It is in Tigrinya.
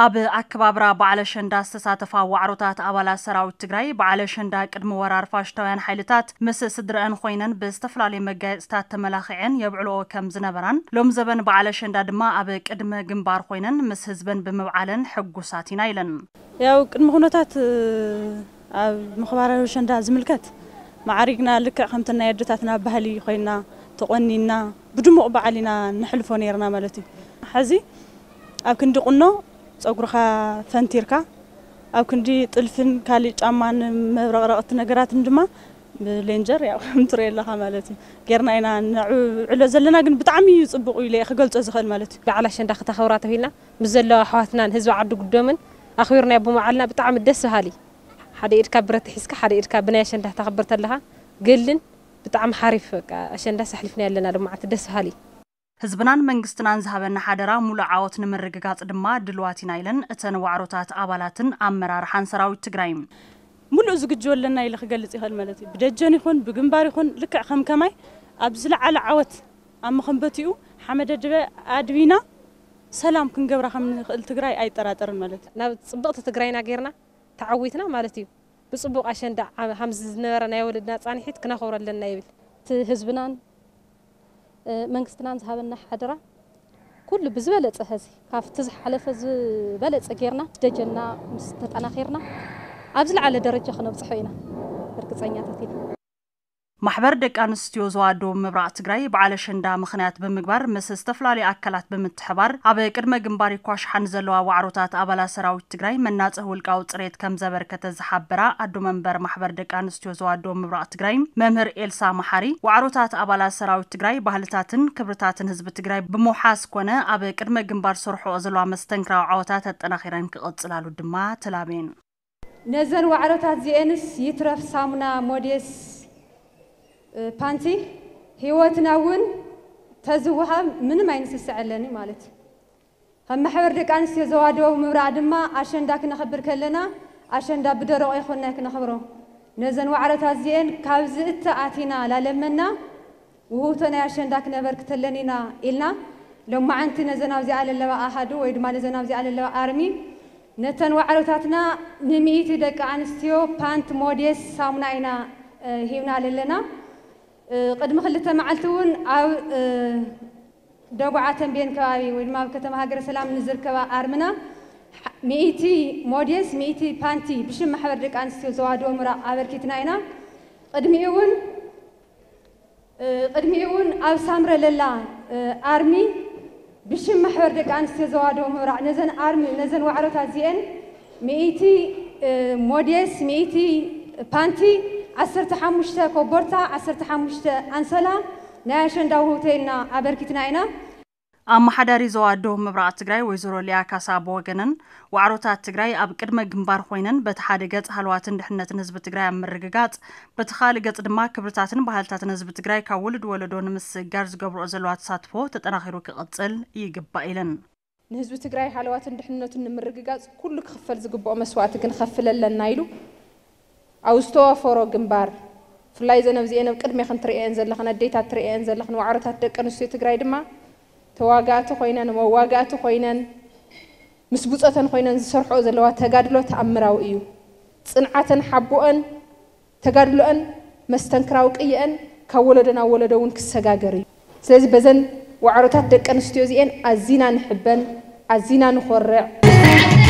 ኣብ ኣከባብራ በዓል ኣሸንዳ ዝተሳተፋ ዋዕሮታት ኣባላት ሰራዊት ትግራይ፣ በዓል ኣሸንዳ ቅድሚ ወራር ፋሽስታውያን ሓይልታት ምስ ስድረአን ኮይነን ብዝተፈላለየ መጋየፅታት ተመላኺዐን የብዕልኦ ከም ዝነበራን፣ ሎም ዘበን በዓል ኣሸንዳ ድማ ኣብ ቅድመ ግንባር ኮይነን ምስ ህዝበን ብምብዓለን ሕጉሳት ኢና ኢለን። ያው ቅድመ ኩነታት ኣብ ምኽባራዊ ኣሸንዳ ዝምልከት፣ ማዕሪግና ልክዕ ከምቲ ናይ ኣደታትና ባህሊ ኮይና ተቆኒና ብድሙቕ በዓል ኢና ነሕልፎ ነይርና ማለት እዩ። ሕዚ ኣብ ክንዲ ቁኖ ጸጉርኻ ፈንቲርካ፣ ኣብ ክንዲ ጥልፍን ካልእ ጫማን መብረቕረቕቲ ነገራትን ድማ ብሌንጀር ያው ከም ትሪኦ ኣለኻ ማለት እዩ። ጌርና ኢና ነዕብዕሎ ዘለና፣ ግን ብጣዕሚ እዩ ጽቡቕ ኢለ እየ ክገልጾ ዝኽእል ማለት እዩ። በዓል ኣሸንዳ ክተኸብራ ተባሂልና ምስ ዘለዋ ኣሕዋትናን ህዝቢ ዓዲ ጉዶምን ኣኽቢርናዮ ብምውዓልና ብጣዕሚ ደስ በሃሊ። ሓደ ኢድካ ብረት ሒዝካ ሓደ ኢድካ ብናይ ኣሸንዳ ክተኽብር ተለኻ ገልን ብጣዕሚ ሓሪፍ በቃ ኣሸንዳስ ኣሕሊፍናዮ ኣለና ሎማዓንቲ ደስ በሃሊ። ህዝብናን መንግስትናን ዝሃበና ሓደራ ሙሉእ ዓወት ንምርግጋፅ ድማ ድልዋት ኢና ኢለን እተን ዋዕሮታት ኣባላትን ኣመራርሓን ሰራዊት ትግራይ። ሙሉእ ዝግጅው ኣለና ኢለ ክገልፅ ይኽእል ማለት እዩ። ብደጀን ይኹን ብግንባር ይኹን ልክዕ ከም ከማይ ኣብ ዝለዓለ ዓወት ኣብ መኸንበቲኡ ሓመደ ድበ ኣድቢና ሰላም ክንገብራ ከም ንኽእል ትግራይ ኣይጠራጠርን ማለት እዩ። ናብ ፅብቕቲ ትግራይና ጌርና ተዓዊትና ማለት እዩ። ብፅቡቕ ኣሸንዳ ዓመ-፣ ሃምዚ ዝነበረ ናይ ወለድና ፃንሒት ክነኽብሮ ኣለና ይብል። እቲ ህዝብናን፣ እ፣ መንግስትናን ዝሃበና ሓደራ ኩሉ ብዝበለፀ ሐዚ ካብቲ ዝሓለፈ ዝበለፀ ጌርና ደጀንና ምስ ተጠናኺርና ኣብ ዝለዓለ ደረጃ ክነብፅሖ ኢና ርግፀኛታት ኢና። ማሕበር ደቂ ኣንስትዮ ዞባ ደቡብ ምብራቕ ትግራይ በዓል ኣሸንዳ ምኽንያት ብምግባር ምስ ዝተፈላለዩ ኣካላት ብምትሕባር ኣብ ቅድመ ግንባር ይኳሽሓን ዘለዋ ዋዕሮታት ኣባላት ሰራዊት ትግራይ መናፅህ ውልቃዊ ፅሬት ከም ዘበርከተ ዝሓበራ ኣዶ መንበር ማሕበር ደቂ ኣንስትዮ ዞባ ደቡብ ምብራቕ ትግራይ መምህር ኤልሳ መሓሪ፣ ዋዕሮታት ኣባላት ሰራዊት ትግራይ ባህልታትን ክብርታትን ህዝቢ ትግራይ ብምውሓስ ኮነ ኣብ ቅድመ ግንባር ዝሰርሕኦ ዘለዋ መስተንክራዊ ዓወታት ኣጠናኺረን ክቕፅላሉ ድማ ተላብየን። ነዘን ዋዕሮታት እዚኤንስ ይትረፍ ሳሙና፣ ሞዴስ፣ እ፣ ፓንቲ ህይወትና እውን ተዝወሃብ ምንም ኣይንስስዐለኒ ማለት እዩ። ከም ማሕበር ደቂ ኣንስትዮ ዞባ ደቡብ ምብራቕ ድማ ኣሸንዳ ክነኽብር ከለና ኣሸንዳ ብደረቑ ኣይኮንና ክነኽብሮ። ነዘን ዋዕሮታት እዚኤን ካብ ዝእተ ኣቲና ላለመና ውህውቶ ናይ ኣሸንዳ ክነበርክተለን ኢና ኢልና፣ ሎማዓንቲ ነዘን ኣብዚኣ ለለዋ ኣሃዱ ወይ ድማ ነዘን ኣብዚኣ ለለዋ ኣርሚ፣ ነተን ዋዕሮታትና ንሚእቲ ደቂ ኣንስትዮ ፓንት ሞዴስ ሳሙና ኢና፣ እ፣ ሂብና ለለና። እ፣ ቅድሚ ክልተ መዓልቲ እውን ኣብ፣ እ፣ ደጉዓ ተንቤን ከባቢ ወይ ድማ ኣብ ከተማ ሃገረ ሰላም ንዝርከባ ኣርምና፣ ሚእቲ ሞዴስ፣ ሚእቲ ፓንቲ ብሽም ማሕበር ደቂ ኣንስትዮ ዞባ ደቡብ ምብራቕ ኣበርኪትና ኢና። ቅድሚኡ እውን እ፣ ቅድሚኡ እውን ኣብ ሳምረ ለላ፣ እ፣ ኣርሚ ብሽም ማሕበር ደቂ ኣንስትዮ ዞባ ደቡብ ምብራቕ ነዘን ኣርሚ፣ ነዘን ዋዕሮታት እዚኤን ሚእቲ፣ እ፣ ሞዴስ፣ ሚእቲ ፓንቲ፣ ዓሰርተ ሓሙሽተ ኮቦርታ፣ ዓሰርተ ሓሙሽተ ኣንሶላ ናይ ኣሸንዳ ውህውቶ ኢልና ኣበርኪትና ኢና። ኣመሓዳሪ ዞባ ደቡብ ምብራቕ ትግራይ ወይዘሮ ሊያ ካሳ ብወገነን፣ ዋዕሮታት ትግራይ ኣብ ቅድመ ግንባር ኮይነን በቲ ሓደ ገፅ ሃለዋትን ድሕነትን ህዝቢ ትግራይ ኣብ ምርግጋፅ፣ በቲ ካልእ ገፅ ድማ ክብርታትን ባህልታትን ህዝቢ ትግራይ ካብ ወለዶ ወለዶ ንምስግጋር ዝገብርኦ ዘለዋ ተሳትፎ ተጠናኺሩ ክቕፅል ይግባእ ኢለን። ንህዝቢ ትግራይ ሃለዋትን ድሕንነቱን ንምርግጋፅ ኩሉ ክኽፈል ዝግብኦ መስዋእቲ ክንኸፍል ኣለና ኢሉ ኣብ ዝተዋፈሮ ግንባር፣ ብፍላይ እዘን ኣብዚኤን ኣብ ቅድሜኽን ትርእየን ዘለኽን ኣዴታት ትርእየን ዘለኽን ዋዕሮታት ደቂ ኣንስትዮ ትግራይ ድማ ተዋጋእቲ ኮይነን፣ መዋጋእቲ ኮይነን፣ ምስ ብጾተን ኮይነን ዝሰርሕኦ ዘለዋ ተጋድሎ ተኣምራዊ እዩ። ጽንዓተን ሓቦኦን ተጋድሎአን መስተንክራዊ ቅየአን ካብ ወለዶ ናብ ወለዶ እውን ክሰጋገር እዩ። ስለዚ በዘን ዋዕሮታት ደቂ ኣንስትዮ እዚኤን ኣዚና ንሕበን፣ ኣዚና ንኾርዕ።